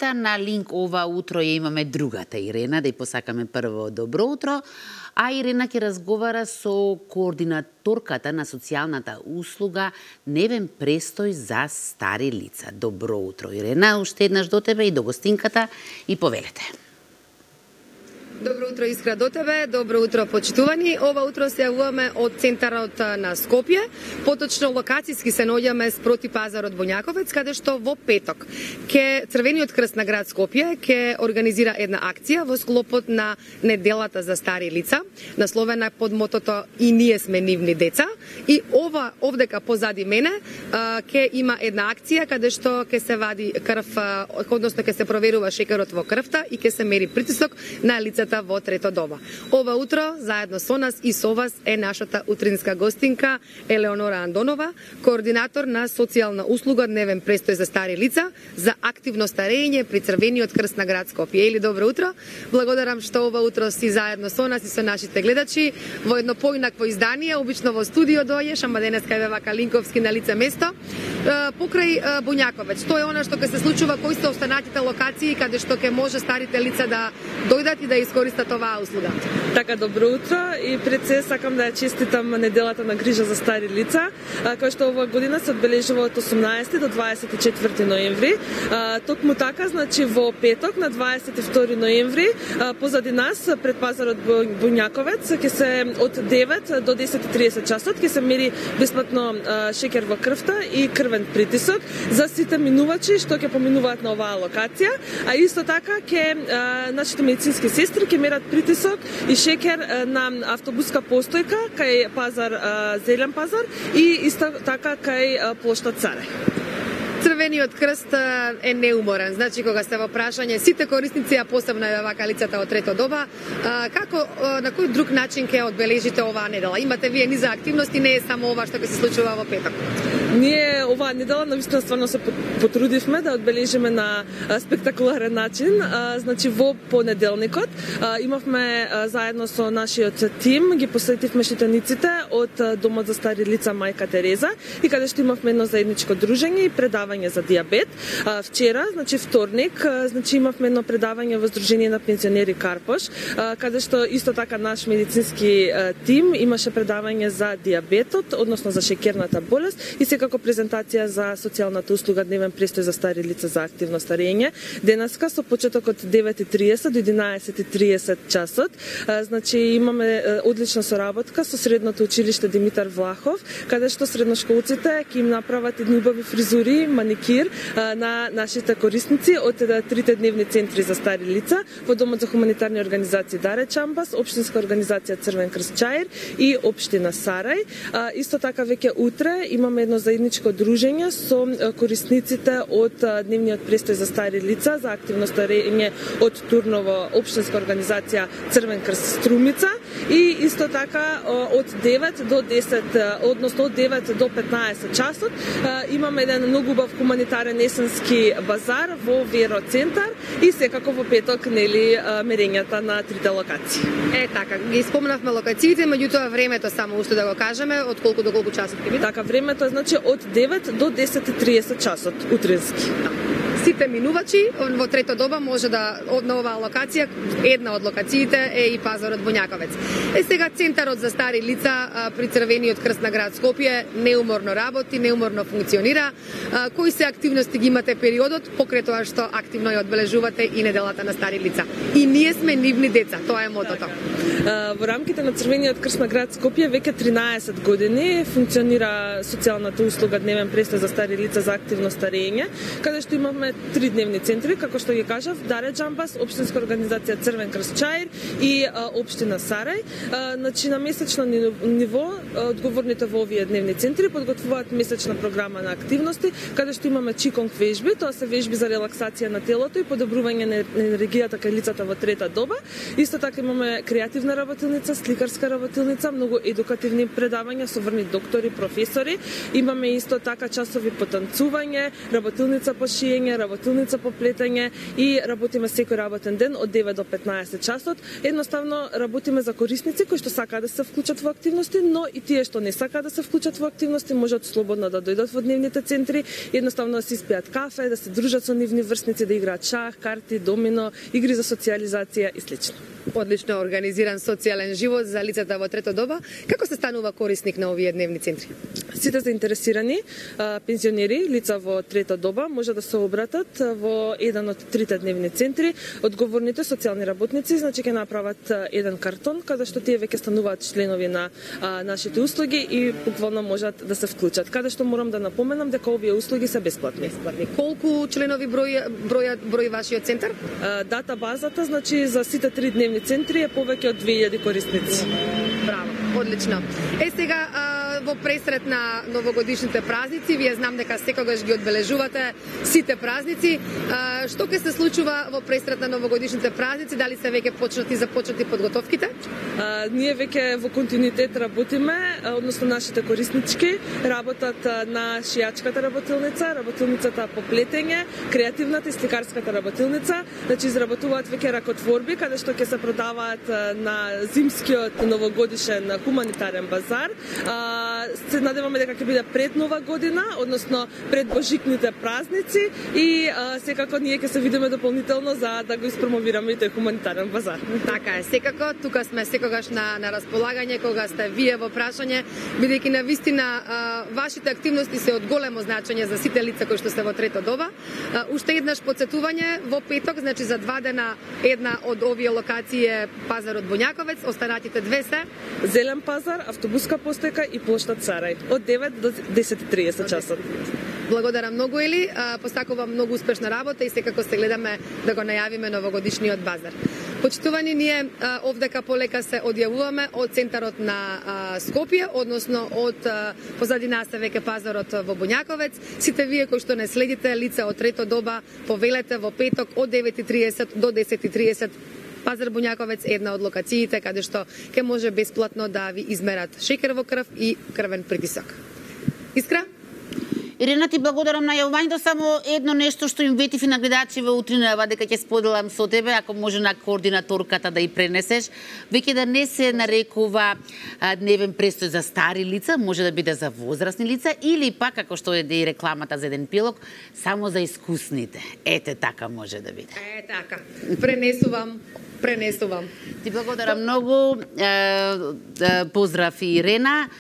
На линк ова утро ја имаме другата Ирена, да ја посакаме прво добро утро, а Ирена ќе разговара со координаторката на социјалната услуга Невен престој за стари лица. Добро утро, Ирена, уште еднаш до тебе и до гостинката и повелете. Добро утро, Искра, до тебе. Добро утро, почитувани. Ова утро се јавуваме од центарот на Скопје. Поточно локацијски се наоѓаме спроти пазарот Буњаковец, каде што во петок ке Црвениот крст на град Скопје ке организира една акција во склопот на неделата за стари лица, насловена под мотото "И ние сме нивни деца". И овдека позади мене ке има една акција каде што ке се вади крв, односно ке се проверува шекерот во крвта и ке се мери притисок на лицата во трето доба. Ова утро, заедно со нас и со вас, е нашата утринска гостинка Елеонора Андонова, координатор на социјална услуга Дневен престој за стари лица за активно старење при Црвениот крст на град Скопје. Ели, добро утро. Благодарам што ова утро си заедно со нас и со нашите гледачи во едно поинакво издание, обично во студио дојдеш, ама денеска е вака линковски на лице место. Покрај Буњаковец, тоа е она што ќе се случува, кои се останатите локации каде што ќе може старите лица да дојдат и да искористат оваа услуга. Така, добро утро и пред се сакам да ја честитам неделата на грижа за стари лица, која што оваа година се одбележува од 18 до 24 ноември. Токму така, значи во петок на 22 ноември позади нас пред пазарот Буњаковец ќе се од 9 до 10:30 часот ќе се мери бесплатно шекер во крвта и крвен притисок за сите минувачи што ќе поминуваат на оваа локација, а исто така ќе нашите медицински сестри ќе мерат притисок и шекер на автобуска постојка кај пазар Зелен пазар и исто така кај плоштад Царе. Црвениот крст е неуморен, значи кога сте во прашање сите корисници, а посебно е вака лицата од трето доба, како на кој друг начин ќе одбележите оваа недела? Имате вие низа активности, не е само ова што ќе се случува во петок. Ние оваа недела навистина стварно се потрудивме да одбележиме на спектакуларен начин. Значи во понеделникот имавме заедно со нашиот тим, ги посетивме штитениците од Домот за стари лица Мајка Тереза и каде што имавме едно заедничко дружење и предавање за дијабет. Вчера, значи вторник, значи имавме едно предавање во Сдружение на пензионери Карпош, каде што исто така наш медицински тим имаше предавање за дијабетот, односно за шекерната болест и како презентација за социјалната услуга Дневен престој за стари лица за активно старење. Денеска со почеток од 9:30 до 11:30 часот. Значи имаме одлична соработка со средното училиште Димитар Влахов, каде што средношколците ќе им направат едни убави фризури, маникир на нашите корисници од трите дневни центри за стари лица во Домот за хуманитарни организации Даре Чамбас, Општинска организација Црвен крст Чаир и Општина Сарај. Исто така веќе утре имаме едно заедничко дружење со корисниците од Дневниот престој за стари лица за активно старење од Турново, Општинска организација Црвен крст Струмица и исто така од 9 до 10, односно од 9 до 15 часот имаме еден многу убав хуманитарен есенски базар во Веро центар и секако во петок нели мерењата на трите локации. Така, ги спомнавме локациите, меѓутоа времето само уште да го кажеме, од колку до колку часот ќе биде? Така, времето е значи од 9 до 10:30 часот утрински. Сите минувачи во трето доба може да на оваа локација, една од локациите е и пазарот Буњаковец. Сега центарот за стари лица при Црвениот крст на град Скопје неуморно работи, неуморно функционира. Кои се активности ги имате периодот покрај тоа што активно ја одбележувате и неделата на стари лица? И ние сме нивни деца, тоа е мотото. Во рамките на Црвениот крст на град Скопје веќе 13 години функционира социјалната услуга Дневен престој за стари лица за активно старење, каде што имавме три дневни центри, како што ги кажав, Даре Джамбас, Општинска организација Црвен крст Чаир и Општина Сарај. Значи на месечно ниво одговорните во овие дневни центри подготвуваат месечна програма на активности, каде што имаме чиконг вежби, тоа се вежби за релаксација на телото и подобрување на енергијата кај лицата во трета доба. Исто така имаме креативна работилница, сликарска работилница, многу едукативни предавања со врни доктори, професори. Имаме исто така часови по танцување, работилница по шиење, работилница по плетење и работиме секој работен ден од 9 до 15 часот. Едноставно работиме за корисници кои што сакаат да се вклучат во активности, но и тие што не сакаат да се вклучат во активности можат слободно да дојдат во дневните центри, едноставно да си испијат кафе, да се дружат со нивни врсници, да играат шах, карти, домино, игри за социјализација и слично. Одлично организиран социјален живот за лицата во трето доба. Како се станува корисник на овие дневни центри? Сите заинтересирани пензионери, лица во трета доба, може да се обратат во еден од трите дневни центри. Одговорните социјални работници, значи ќе направат еден картон каде што тие веќе стануваат членови на нашите услуги и буквално можат да се вклучат. Каде што морам да напоменам дека овие услуги се бесплатни. Колку членови брои вашиот центар? Дата базата, значи за сите три дневни центри е повеќе од 2000 корисници. Браво, одлично. Сега во пресрет на новогодишните празници, вие знам дека секогаш ги одбележувате сите празници. Што ќе се случува во пресрет на новогодишните празници? Дали се веќе започнати подготовките? Ние веќе во континуитет работиме, односно нашите кориснички работат на шијачката работилница, работилницата по плетење, креативната и сликарската работилница, значи изработуваат веќе ракотворби каде што ќе се продаваат на зимскиот новогодишен хуманитарен базар. Се надеваме дека ќе биде пред Нова година, односно пред божикните празници и секако ние ќе се видиме дополнително за да го испромовираме и тој хуманитарен базар. Така е, секако тука сме секогаш на располагање кога сте вие во прашање, бидејќи на вистина вашите активности се од големо значење за сите лица кои што се во трето доба. Уште еднаш подсетување во петок, значи за 2 дена една од овие локации е пазарот Боњаковец, останатите две се Зелен пазар, автобуска постојка и плоштад Царај од 9 до 10:30 часот. Благодарам многу, Ели. Постакувам многу успешна работа и секако се гледаме да го најавиме новогодишниот базар. Почитувани, ние овдека полека се одјавуваме од центарот на Скопје, односно од позади нас е веќе пазарот во Боњаковец. Сите вие кои што не следите лица од трето доба, повелете во петок од 9:30 до 10:30 Пазар Боњаковец е една од локациите каде што ќе може бесплатно да ви измерат шекер во крв и крвен притисок. Искра? Ирена, ти благодарам на јавувањето, само едно нешто што им ветив и на гледачи во утринава дека ќе споделам со тебе, ако може на координаторката да ја пренесеш, веќе да не се нарекува дневен престој за стари лица, може да биде за возрастни лица или пак, како што е и рекламата за еден пилок, само за искусните. Ете така може да биде. Така. Пренесувам. Ти благодарам многу. Поздрав и Ирена.